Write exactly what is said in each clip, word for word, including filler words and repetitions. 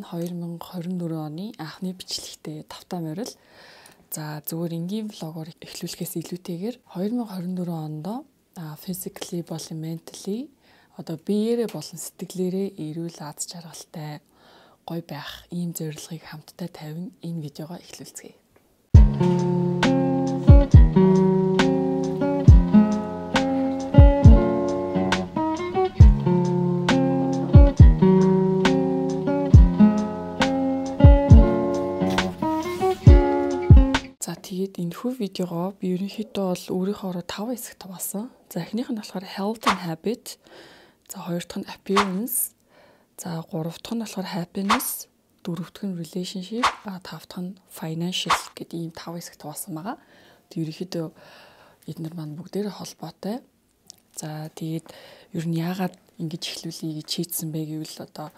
хоёр мянга хорин дөрөв оны анхны бичлэгтээ тавтаа морил. За зүгээр энгийн влогоор эхлүүлэхээс илүүтэйгээр хоёр мянга хорин дөрөв онд physically болон mentally одоо биеэрээ болон сэтгэлээрээ эрүүл аз жаргалтай гоё байх ийм зорилгыг хамтдаа тавин энэ видеогоо эхлүүлцгээе. Тэгээд энэ хүү видеогоо би ерөнхийдөө бол өөрийнхөө таван хэсэгт хаваасан. За эхнийх нь болохоор health and habit. За хоёр дахь нь appearance. За гурав дахь нь болохоор happiness. Дөрөв дахь нь relationship. А тав дахь нь financial гэдэг ийм таван хэсэгт хаваасан байгаа. Тэг ерөнхийдөө эдгээр маань бүгдээрээ холбоотой. За тэгээд ер нь яагаад ингэж эхлүүлэе гэж шийдсэн бэ гэвэл одоо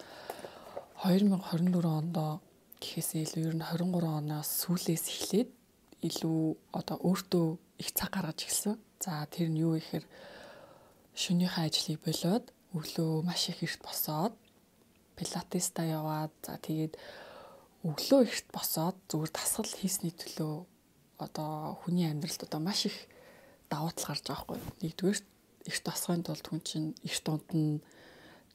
хоёр мянга хорин дөрөв онд гэхээсээ илүү ер нь хорин гурав оноос сүүлээс эхлээд илүү одоо өөртөө их цаг гаргаж эхэлсэн. За тэр нь юу гэхээр шөнийхөө ажлыг болоод өглөө маш их эрт босоод пилатеста яваад за тэгээд өглөө эрт босоод зүгээр дасгал хийсний төлөө одоо хүний амьдралд одоо маш их давуу тал гарч байгаа байхгүй. Нэгдүгээр эрт босохын тулд хүн чинь эрт унтна.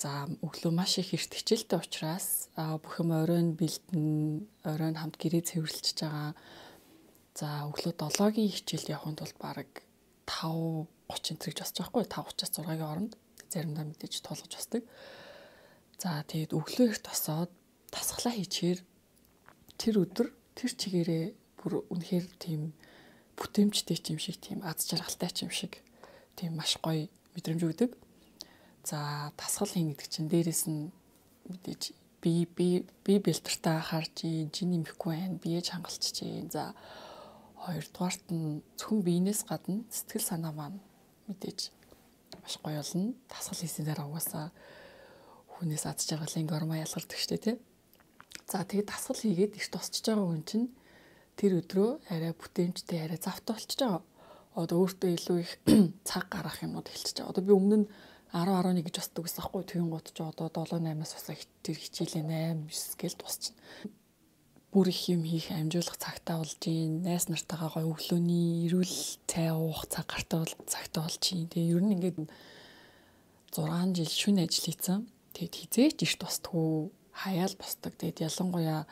За өглөө маш их эрт хичээлтэй учраас бүх юм оройн бэлдэн, оройн хамт гэрээ цэвэрлэж байгаа. За өглөө долоогийн хичээлд явахын тулд бараг тав гучин тэрэж босч байгаа хгүй тав гуцаас зургагийн оронд заримдаа мэдээж тулгаж босдог. За тэгээд өглөө эрт босоод дасгалаа хийчихээр тэр өдөр тэр чигээрээ бүр үнэхээр тийм бүтээмжтэй юм шиг тийм аз жаргалтай юм шиг тийм маш гоё мэдрэмж өгдөг. За дасгал хийн гэдэг чинь дээрэс нь мэдээж би би би бэлтэртэй харж жин нэмэхгүй байна. Биеж хангалчих чинь. За хоёрдугаарт нь зөвхөн биенээс гадна сэтгэл санаа маань мэдээж маш гоё болно. Дасгал хийсэн дараа угаасаа хүнээс аз жаргалын гормон ялгардаг штэ тий. За тэгээд дасгал хийгээд их тусчж байгаа хүн чинь тэр өдрөө арай бүтээмжтэй арай завтай болчихж байгаа. Одоо өөртөө илүү их цаг гаргах юмнууд эхэлчихэж байгаа. Одоо би өмнө нь арав арав нэг гэж босдог гэсэн байхгүй тэгин гот ч одоо долоо наймаас босоо тэр хичээлээ найм девс гээл тусчихна. Бүр их юм хийх амжуулах цагтаа болж гин найс нартайгаа гоё өглөөний эрүүл цай уух цаг гартаа бол цагтаа болж гин. Тэгээ ер нь ингээд зургаан жил шүн ажил хийсэн. Тэгээд хизээч эрт босдгоо хаяал босдог. Тэгээд ялангуяа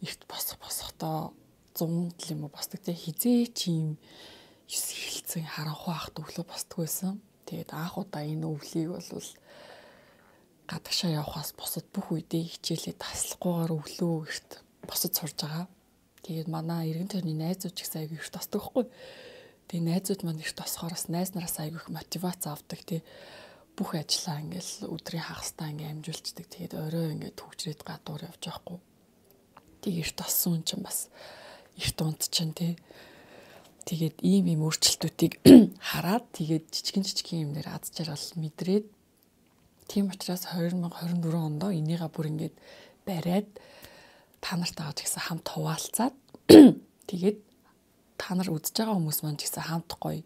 эрт босох босохдоо зун юм уу босдог. Тэгээд хизээч юм ёс хилцэн харанхуй ахт өглөө босдог байсан. Тэгээд анх удаа энэ өвлийг бол гадагшаа явахаас босод бүх үедээ хичээлээ таслахгүйгээр өглөө эрт босод сурж байгаа. Тэгээд манай эргэн тойрны найзууд ч гэсэн айгүй эрт босдог байхгүй. Тэгээд найзууд маань эрт босохоороос найз нараас айгүй их мотивац авдаг тий. Бүх ажлаа ингээл өдрийн хагастай ингээм амжуулцдаг. Тэгээд орой ингээд төгжрээд гадуур явж байхгүй. Тэгээд эрт боссон хүн чинь бас эрт унт чинь тий. Тэгээд ийм ийм өөрчлөлтүүдийг хараад тэгээд жижигэн жижигэн юм дээр аз жаргал мэдрээд тийм учраас two thousand twenty-four онд энийгээ бүр ингээд бариад та нартайгаа ч гэсэн хамт хуваалцаад тэгээд та нар үзэж байгаа хүмүүс маань ч гэсэн хамт гоё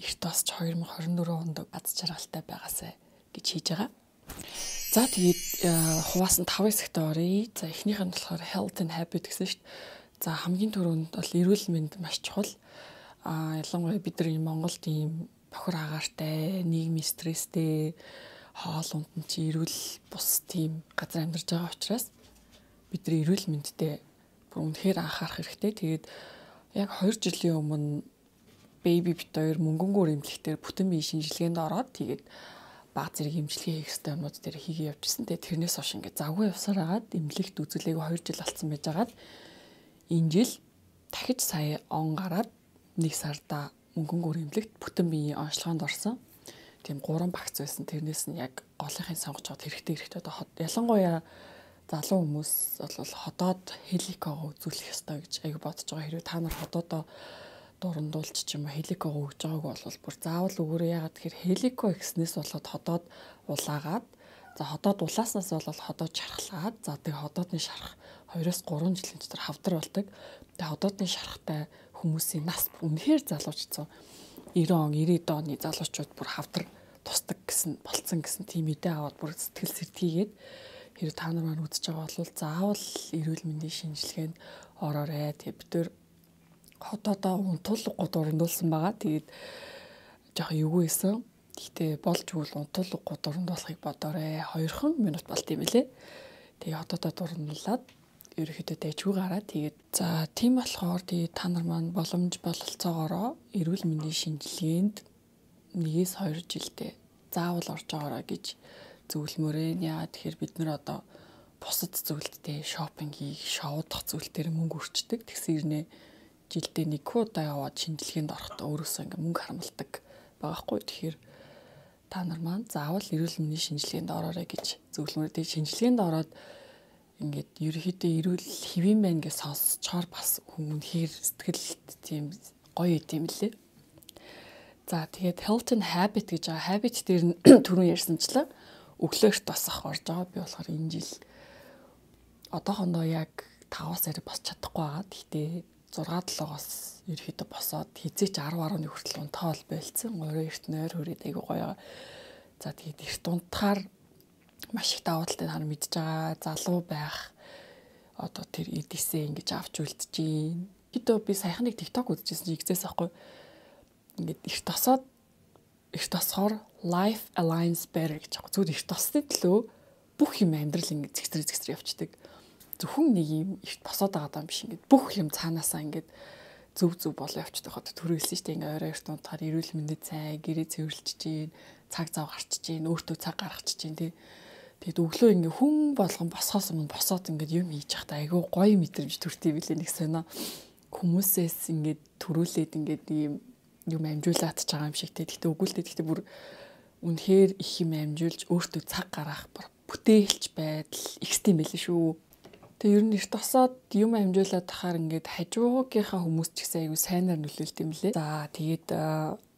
эрт тосч two thousand twenty-four онд аз жаргалтай байгаасай гэж хийж байгаа. За тэгээд хуваасан five хэсэгт оръё. За эхнийх нь болохоор health and habit гэсэн шүү дээ. За хамгийн түрүүнд бол эрүүл мэнд маш чухал. А ялангуяа бид нар Монголд ийм бохир агаартай, нийгмийн стресстэй, хоол ундан чи эрүүл бус тийм газар амьдарч байгаа учраас бид нар эрүүл мэндтэй бүр үнэхээр анхаарах хэрэгтэй. Тэгээд яг two жилийн өмнө baby бит хоёр мөнгөнгөөр эмнэлэгтэр бүтэн биеийн шинжилгээнд ороод тэгээд баг зэрэг эмчилгээ хийх ёстой юмнууд дээр хийгээ явжсэн. Тэгээд тэрнээс хойш ингээд завгүй явсаар агаад эмнэлэгт үзүүлээг two жил болсон байж агаад энэ жил дахиж сая он гараад нэг сарда мөнгөнгөөр эмнэлэгт бүтэн биеийн онцлогоонд орсон. Тийм гурван багц байсан. Тэрнээс нь яг голынхын сонгож аваад хэрэгтэй хэрэгтэй одоо ялангуяа залуу хүмүүс бол ходоод хеликогоо үзүүлэх ёстой гэж аяг бодож байгаа. Хэрвээ та нар ходоодоо дурандуулч ч юм уу хеликогоо өгж байгааг бол бүр заавал өгөөрэй. Ягаад тэгэхээр хелико гэснээс болоод ходоод улаагаад за ходоод улааснаас болоод ходоод шархлаад за тэг ходоодны шарах two-тhree жилийн дотор хавдар болдог. Тэг ходоодны шарахтай хүмүүсийн нас үнэхээр залуучсан ninety он ninety оны залуучууд бүр хавдар тусдаг гэсэн болцсон гэсэн тийм мэдээ аваад бүр сэтгэл сэрдгийгээд хэрэг та нар маань үзэж байгаа бол заавал эрүүл мэндийн шинжилгээнд ороорой. Тэгээ бид төр хотоодоо унтуулгууд урандуулсан байгаа. Тэгээд жоохон эвгүй байсан. Гэхдээ болж өгвөл унтуулгууд урандуулахыг бодоорой. Хоёрхан минут болт юм билэ. Тэгээ хотоодоо урандуулаад ерөөхдөө дэжгүй гараад тэгээд за тийм болохоор тэгээд та нар маань боломж бололцоогоороо эрүүл мэндийн шинжилгээнд нэгээс two жилдээ заавал орж байгаарай гэж зөвлөмөрөө. Яа тэгэхээр бид нар одоо бусад зүйлдээ шопинг хийх, шоудах зүйлдээр мөнгө өрчдөг. Тэгсэн ирнэ жилдээ нэг удаа яваад шинжилгээнд орохдоо өөрөөсөө ингээ мөнгө харамлдаг байгаа хгүй. Тэгэхээр та нар маань заавал эрүүл мэндийн шинжилгээнд ороорой гэж зөвлөмөрөө. Тэгээд шинжилгээнд ороод ингээд ерөөхдөө эрүүл хэвэн байна гэж сонсчоор бас хүмүүнхээр сэтгэлд тийм гоё идэм лээ. За тэгээд health and habit гэж байгаа. Habit дээр нь түрүүн ярьсанчлаа өглөөш тосох орж байгаа. Би болохоор энэ жил одоохондоо яг five-аас арай босч чадахгүй байгаа. Гэхдээ six-7-оос ерөөхдөө босоод хизээч ten ten хүртэл унтаал байлцсан. Орой эрт нойр хүрээд айгу гоё. За тэгээд эрт унтахаар маш их давуу талтай та нар мэдж байгаа. Залуу байх одоо тэр эдисээ ингэж авч үлдчихээн. Хэдөө би саяхан нэг TikTok үзчихсэн чи игзээс ахгүй. Ингээд эрт тосоод эрт тосохоор life aligns better гэж байгаа. Зүгээр эрт тосны төлөө бүх юм амьдрал ингэ зэгцрээ зэгцрээ явцдаг. Зөвхөн нэг юм эрт босоод байгаа юм биш ингээд бүх юм цаанаасаа ингээд зөв зөв болоо явцдаг хот төрүүлсэн шүү дээ. Ингээ орой эрт унтахаар эрүүл мэндэд сайн гэрээ цэвэрлж чинь, цаг зав гарч чинь, өөртөө цаг гаргач чинь тий. Тэгэд өглөө ингээ хүн болгон босохоос өмнө босоод ингээ юм хийж явахдаа айгүй гоё мэдрэмж төртий билээ нэг сонио. Хүмүүсээс ингээ төрүүлээд ингээ ийм юм амжуулаад ч байгаа юм шиг тий. Гэхдээ өгүүлдэ гэхдээ бүр үнэхээр их юм амжуулж өөртөө цаг гаргах бүтээлч байдал ихтэй юм байлээ шүү. Тэгээ ер нь эрт тосоод юм амжуулаад тахаар ингээд хажуугийнхаа хүмүүс ч гэсэн айгүй сайнаар нөлөөлт юм лээ. За тэгээд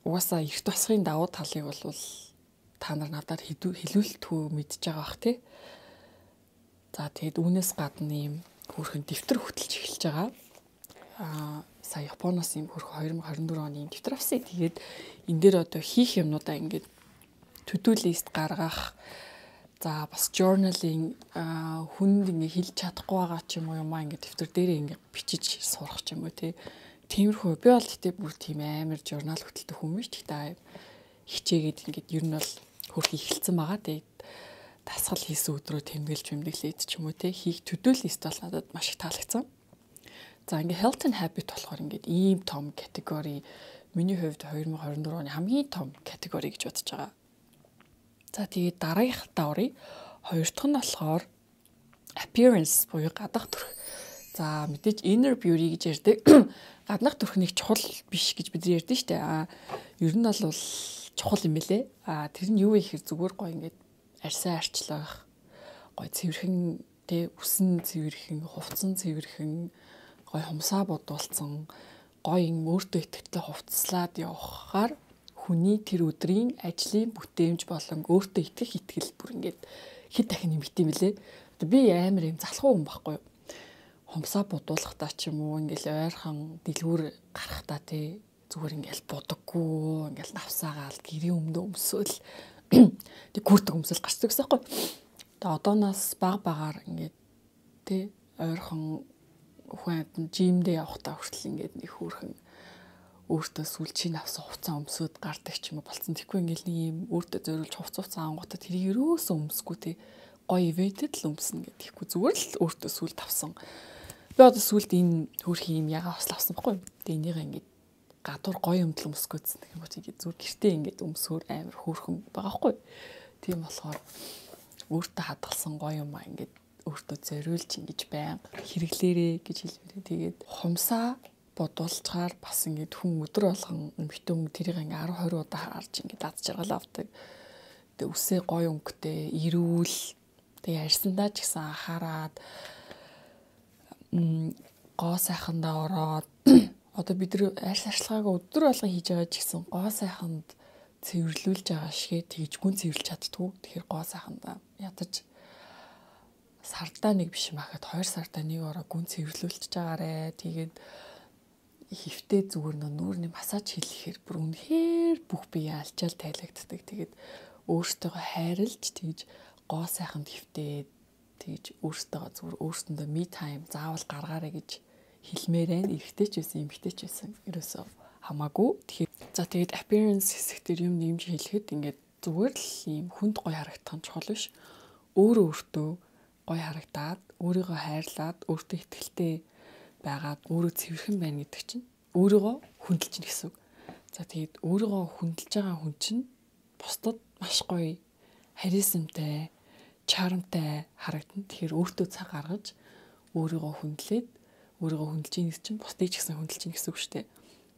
угаасаа эрт тосхын давуу талыг бол та нар надад хэлүүлтгүү мэдж байгаа бах тий. За тэгээд үүнээс гадна ийм хөрхэн дэвтэр хөтөлж эхэлж байгаа. Аа сая Японоос ийм хөрхөн twenty twenty-four оны дэвтэр авсан. Тэгээд энэ дээр одоо хийх юмнуудаа ингээд to-do list гаргах. За бас journaling хүнд ингээ хэлж чадахгүй байгаа ч юм уу юмаа ингээ дэвтэр дээрээ ингээ бичиж сурах ч юм уу тий. Тиймэрхүү би бол гэтээ бүр тийм амар журнал хөтэлдэг хүн биш. Тэгтээ хичээгээд ингээ ер нь бол хөрх ихэлсэн байгаа. Тэгээд дасгал хийсэн өдрөө тэмдэглэж тэмдэглээд ч юм уу тий. Хийх to-do list бол надад маш их таалагдсан. За ингээ health and habit болохоор ингээ ийм том категори миний хувьд twenty twenty-four оны хамгийн том категори гэж бодож байгаа. За тэгээд дараагийнхаа оръё. Хоёр дахь нь болохоор appearance буюу гадах төрх. За мэдээж inner beauty гэж ярьдаг. Гаднах төрх нэг чухал биш гэж бид ярьдэн штэ. А ер нь бол чухал юм бэлээ. А тэр нь юу вэ гэхээр зүгээр гоё ингээд арьсаа арчлах. Гоё цэвэрхэн тэ үсэн цэвэрхэн, хувцсан цэвэрхэн, гоё хумсаа бодуулсан, гоё юм өөртөө ихтэй хувцаслаад явахаар хүний тэр өдрийн ажлын бүтээмж болон өөртөө итгэх итгэл бүр ингээд хэд дахин нэмэгдэв юм бэлээ. Би амар юм залхуу хүн байхгүй юу. Хомсоо будуулахдаа ч юм уу ингээл ойрхон дэлгүүр гарахтаа тий зүгээр ингээл будаггүй ингээл навсаагаал гэрийн өмнө өмсөөл тэг гүрдэг өмсөл гарчдаг гэсэн юм байна. Тэгээ одооноос баг багаар ингээд тий ойрхон хүн амтан жимдээ явахдаа хүртэл ингээд нэг хөөрхөн өөртөө сүлжийн авсан хувцас өмсөд гардаг ч юм уу болцсон. Тэгэхгүй ингээл нэг юм өөртөө зориулж хувцас хувцас ангуудаа тэр ерөөсөө өмсгүй тий гоё ивэтэд л өмснө гэдэг. Тэгэхгүй зүгээр л өөртөө сүлд авсан. Би одоо сүлд энэ хөөрхөн юм ягаа хослоо авсан байхгүй юу. Тэгээ энийг ингээд гадуур гоё өмдөл өмсгөөдсөн гэх юм уу тийм зүгээр гэртээ ингээд өмсөөр амар хөөрхөн байгаа байхгүй юу. Тийм болохоор өөртөө хадгалсан гоё юм аа ингээд өөртөө зориулж ингэж байнга хэрэглээрээ гэж хэлмээрээ. Тэгээд хумсаа бодуулчаар бас ингээд хүн өдөр болгон эмхтэн хүн тэрийг ингээд арав хорь удаа харж ингээд дад жаргал авдаг. Тэгээ үсээ гоё өнгөтэй, эрүүл, тэгээ арьсандаа ч гэсэн анхаарад м гоо сайхандаа ороод одоо бид нар арьс арчилгаагаа өдөр болгон хийж байгаа ч гэсэн гоо сайханд цэвэрлүүлж байгаа шигээ тэгж гүн цэвэрлж чаддгүй. Тэгэхээр гоо сайхандаа ядаж сардаа нэг биш махад хоёр сардаа нэг ороо гүн цэвэрлүүлж байгаарэ. Тэгээд хөвтэй зүгээр нүүрний массаж хийхээр бүр үнэхээр бүх бие алчаал тайлагддаг. Тэгээд өөртөөгөө хайрлж тэгж гоо сайханд хөвтэй тэгж өөртөөгөө зүгээр өөрсөндөө me time заавал гаргаарэ гэж хэлмээрэн эргэтэй ч байсан эмэгтэй ч байсан ерөөсөө хамаагүй. Тэгэхээр за тэгээд appearance хэсэг дээр юм нэмж хэлэхэд ингээд зүгээр л ийм хүнд гоё харагдах нь чухал биш. Өөрөө өөртөө гоё харагдаад, өөрийгөө хайрлаад, өөртөө ихтэй байгаад, өөрөө цэвэрхэн байна гэдэг чинь өөрийгөө хүндэлж чинь гэсэн үг. За тэгээд өөрийгөө хүндэлж байгаа хүн чинь бусдад маш гоё, харизмтай, чарамтай харагдана. Тэгэхээр өөртөө цаг гаргаж өөрийгөө хүндлээд өөрийгөө хүндэлж ийн гэсэн чинь бусдыг ч гэсэн хүндэлж ийн гэсэн үг шүү дээ.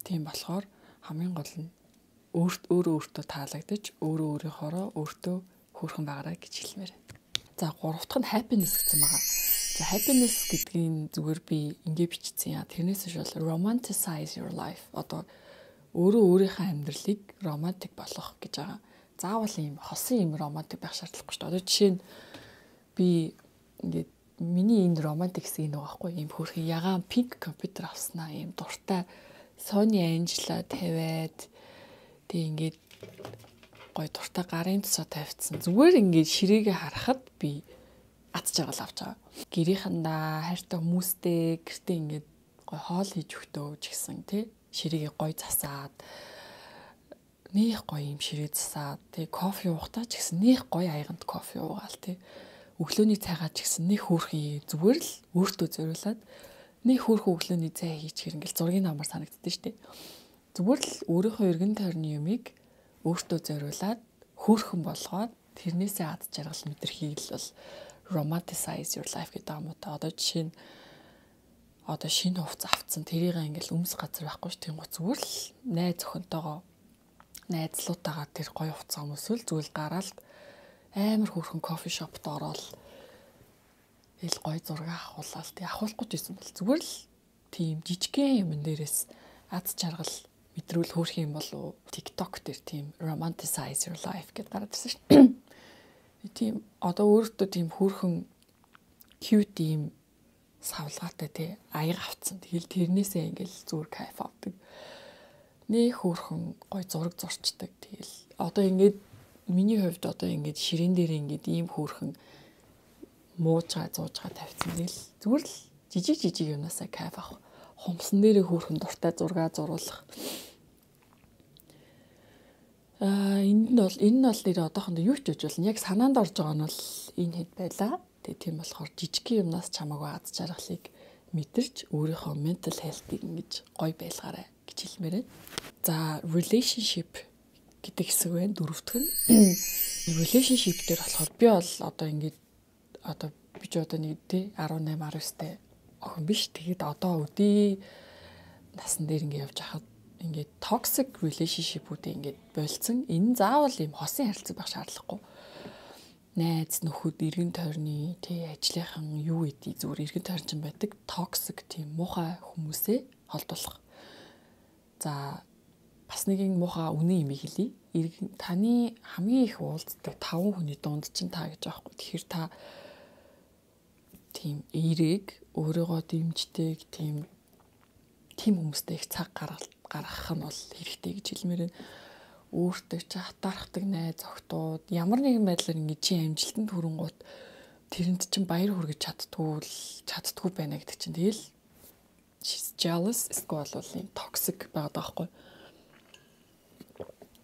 Тийм болохоор хамгийн гол нь өөрт өөрөө өөртөө таалагдаж өөрөө өөрийнхоороо өөртөө хөөрхөн байгаарай гэж хэлмээр. За гурав дахь нь happiness гэсэн байгаа. За happiness гэдгийг зүгээр би ингээ бичсэн яа. Тэрнээс шал romanticize your life. Одоо өөрөө өөрийнхөө амьдралыг романтик болгох гэж байгаа. Заавал ийм хосын юм романтик байх шаардлагагүй шүү дээ. Одоо жишээ нь би ингээд миний энэ романтик хэсэг нэг байхгүй ийм хөөрхөн ягаан пинк компьютер авснаа ийм дуртай Sony Angela тавиад тэг ингээд гоё дуртай гарын тусаа тавьчихсан. Зүгээр ингээд ширээгээ харахад би атж жаргал авч байгаа. Гэрийнхандаа хайртай хүмүүстэй гэртээ ингээд гоё хоол хийж өгтөө ч гэсэн тий ширээгээ гоё засаад нэх гоё юм ширээ засаад тэг кофе уухтаа ч гэсэн нэх гоё аяганд кофе уугаал тий өглөөний цайгаа ч гэсэн нэх хөөрхөн зүгээр л өөртөө зориулаад нэг хөөрхөн өглөөний цай хийчихэр ингээл зургийн намар санагддээ штэ. Зүгээр л өөрийнхөө эргэн тойрны юмыг өөртөө зориулаад хөөрхөн болгоод тэрнээсээ ад жаргал мэдэрхийг л бол romanticize your life гэдэг юм уу та. Одоо жишээ нь одоо шинэ хувцас авцсан тэрийг ингээл өмс газар байхгүй ш тийм гоо зүгээр л найз охинтойгоо найзлуутаагаа тэр гоё хувцас өмсвөл зүгээр гараал амар хөөрхөн кофе шопт ороод ил гоё зураг авахуулаад тий авахгүй ч байсан бол зүгээр л тийм жижигхэн юм дээрээс ад жаргал мэдрүүл хөөрх юм болов TikTok дээр тийм romanticize your life гэдээ гараад ирсэн шүү дээ. Тийм одоо өөртөө тийм хөөрхөн cute юм савлгаатай тий аяга авцсан. Тэгэл тэрнээсээ ингээл зүгээр кайф авдаг. Нээ хөөрхөн гоё зураг зурчдаг. Тэгэл одоо ингээд миний хувьд одоо ингээд ширээн дээр ингээд ийм хөөрхөн муужгаа зуужгаа тавьсан. Тэгэл зүгээр л жижиг жижиг юунаасаа кайф авах. Хумсан дээрээ хөөрхөн дуртай зураг зуруулах. Аа энд нь бол энэ нь бол нэр одоохондоо юу ч гэж болно. Яг санаанд орж байгаа нь бол энэ хэд байлаа. Тэгээ тийм болохоор жижигхэн юмнаас чамаагүй ад жаргалыг мэдэрч өөрийнхөө mental health-ийг ингэж гоё байлгаарай гэж хэлмээр байна. За relationship гэдэг хэсэг байна. Дөрөвдөх нь relationship дээр болохоор би бол одоо ингэж одоо би ч одоо нэг тий дөрвөн дөрвөн девь охин биш. Тэгээд одоо өдий насан дээр ингэ явж хахад ингээд toxic relationship-үүдээ ингээд болцсон. Энэ заавал юм хосын харилцаа байх шаардлагагүй. Найз нөхөд эргэн тойрны тий ажлынхан юу гэдгийг зүгээр эргэн тойрчин байдаг toxic тийм муухай хүмүүсээ холдуулах. За бас нэгэн муухай үнэн юм хэлье. Таны хамгийн их уулздаг таван хүний дунд чинь та гэж аахгүй. Тэгэхээр та тийм эерэг өөрийгөө дэмждэг тийм тийм хүмүүстэй их цаг гаргах нь бол хэрэгтэй гэж хэлмээр байна. Өөртөө ч хатаархдаг найз охтууд ямар нэгэн байдлаар ингэ чи амжилтанд хүрэнгуут тэрэнд чинь баяр хүргэж чаддгүй л чаддгүй байна гэдэг чинь тэгэл she's jealous эсвэл бол юм toxic байгаад байгаа хгүй.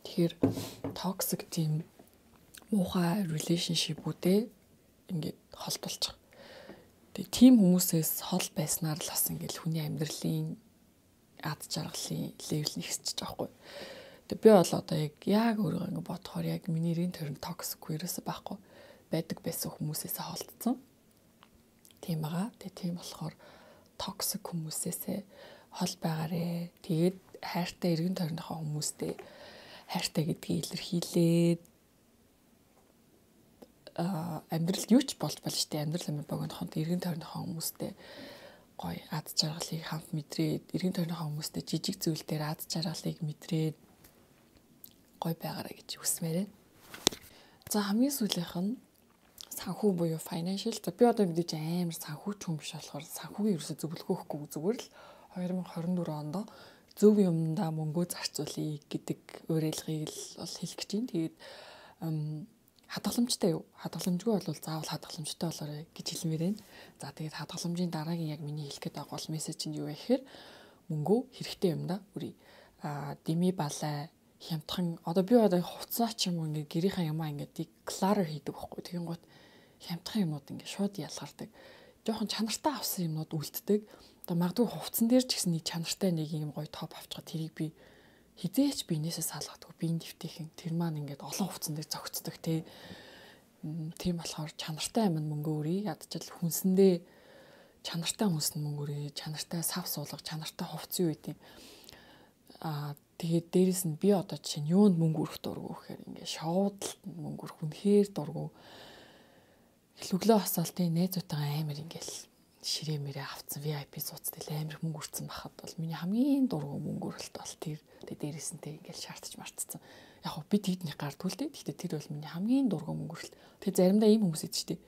Тэгэхээр toxic тийм муухай relationship-үүдээ ингээд холдуулчих. Тэгээ тийм хүмүүсээс хол байснаар л бас ингээд хүний амьдралын ад жаргалын левел нэгсэж байгаа хгүй. Тэгээ би бол одоо яг яг өөрийгөө ингээд бодохоор яг миний эрийн тойрон toxic ерөөсөй байхгүй байдаг байсан хүмүүсээс холдсон. Тийм байгаа. Тэгээ тийм болохоор toxic хүмүүсээсээ хол байгаарэ. Тэгээд хайртай эргэн тойрныхоо хүмүүстэй хайртай гэдгийг илэрхийлээд а амьдрал юу ч болж болно шүү дээ. Амьдрал амир богинохонд эргэн тойрныхоо хүмүүстэй гоё ад жаргалыг хамт мэдрээд, эргэн тойрныхоо хүмүүстэй жижиг зүйл дээр ад жаргалыг мэдрээд гоё байгаарэ гэж хүсмээрээ. За хамгийн сүүлийнх нь санхүү буюу financial. За би одоо мэдээж амар санхүүч хүн биш болохоор санхүүгийн ерөөсө зөвлөгөөхгүй зүгээр л two thousand twenty-four онд зөв юмдаа мөнгөө зарцуулъя гэдэг уриалгыг л бол хэлэх гэж байна. Тэгээд хадгаламжтай юу? Хадгаламжгүй бол заавал хадгаламжтай болоорой гэж хэлмээр байна. За тэгээд хадгаламжийн дараагийн яг миний хэлэх гээд байгаа бол мессеж нь юу вэ гэхээр мөнгөө хэрэгтэй юм да. Үрий а дими балай хямдхан одоо би одоо хувцас ч юм уу ингээ гэрийнхаа ямаа ингээ declare хийдэг байхгүй. Тэгин гот хямдхан юмуд ингээ шууд ялгардаг. Жохон чанартай авсан юмнууд үлддэг. Одоо магадгүй хувцсан дээр ч гэсэн нэг чанартай нэг юм гоё топ авчихад тэрийг би хизээч биенээсээ салгадгүй биеийн дэвтийнхэн тэр маань ингээд олон хувцсан дээр зогцдог тий. Тийм болохоор чанартай юм мөнгө өрий ядчил хүнсэндээ чанартай хүнс мөнгө өрий чанартай сав суулга чанартай хувцсан юу гэдэг. Аа тэгээд дээрэс нь би одоо чинь юунд мөнгө өрөх дурггүй гэхээр ингээд шоудлалт мөнгө өрөх үнэхээр дурггүй. Өглөө хасаалтын найзуудтайгаа амар ингээл ширээ мэрээ авцсан ви ай пи суудсан амар мөнгө өрцөн бахад бол миний хамгийн дургу мөнгө өрөлт бол тэр дээрээс нь тэг ингээл шаардж марцсан. Яг хөө би тэгдний гардгүй л дээ. Гэхдээ тэр бол миний хамгийн дургу мөнгө өрөлт. Тэг заримдаа ийм хүмүүс идэв чтэй.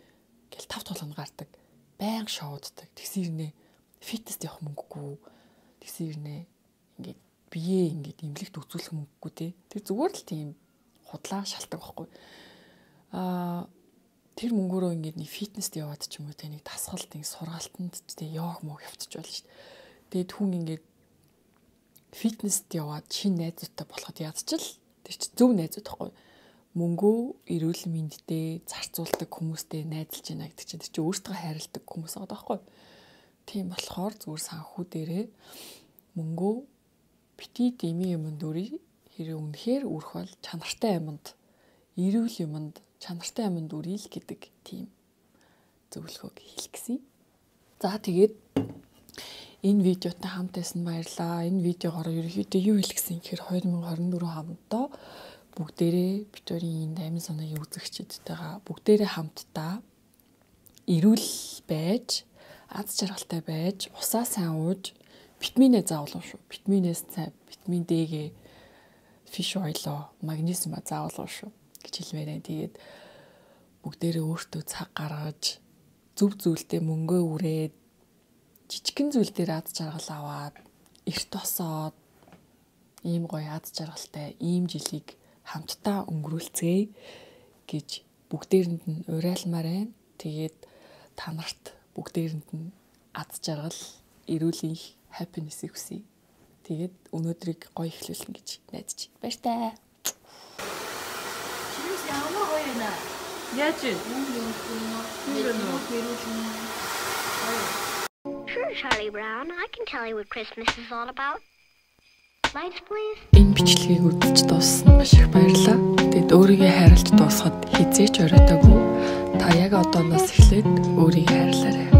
Ингээл тав толгонд гардаг. Баян шоуддаг. Тэгсэн ирнэ фитнест явах мөнгөгүй. Тэгсэн ирнэ ингээд бие ингээд имлэгт үзүүлэх мөнгөгүй те. Тэр зүгээр л тийм худлаа шалтгаан байхгүй. Аа тэр мөнгөөрөө ингээд нэг фитнест яваад ч юм уу те нэг дасгалт нэг сургалтанд те йог мог явчих болно шүү дээ. Тэгээд хүн ингээд фитнест яваад шинэ найзуудтай болоход ядчил тэр чи зөв найзууд тахгүй. Мөнгөө эрүүл мэндтэй зарцуулдаг хүмүүстэй найзалж байна гэдэг чинь тэр чи өөртөө хайрладаг хүмүүс байгаа даахгүй. Тийм болохоор зүгээр санхүү дээрээ мөнгөө бити дими юмд үрий хэрэг үнэхээр үрэх бол чанартай юмд эрүүл юмд чанартай юмд үрил гэдэг тийм зөвлөгөөг хэлэх гэсэн. За тэгээд энэ видеотой хамт байсан баярлалаа. Энэ видеогоор ерөнхийдөө юу хэлэх гэсэн гэхээр twenty twenty-four хамтдаа бүгдээрээ битүүрийн амин санаагийн үзэгчдтэйгээ бүгдээрээ хамтдаа эрүүл байж, аз жаргалтай байж, усаа сайн ууж, витаминээ заавал шүү. Витаминээс сайн, витамин Д-гээ, fish oil-оо, магнезиума заавал шүү гэж хэлмээр байна. Тэгээд бүгдээрээ өөртөө цаг гаргаж, зөв зүйлдээ мөнгөө үрээд, жижигхэн зүйл дээр аз жаргал аваад, эрт осоод, ийм гоё аз жаргалтай ийм жилийг хамтдаа өнгөрүүлцгээе гэж бүгдээрэнд нь уриалмаар байна. Тэгээд та нарт бүгдээрэнд нь аз жаргал, эрүүлийн happiness-ийг хүсье. Тэгээд өнөөдрийг гоё эхлүүлнэ гэж найдаж байна. Баяртай. Чимээс ямар гоё нэ. Яаж вэ? Sure, Charlie Brown. I can tell you what Christmas is all about. Lights, please. Энэ бичлэгийг үзэж дууссан маш их баярлалаа. Тэгэд өөрийгөө хайрлаж дуусахад хизээч оройтоогүй. Та яг одооноос эхлээд өөрийгөө хайрлаарай.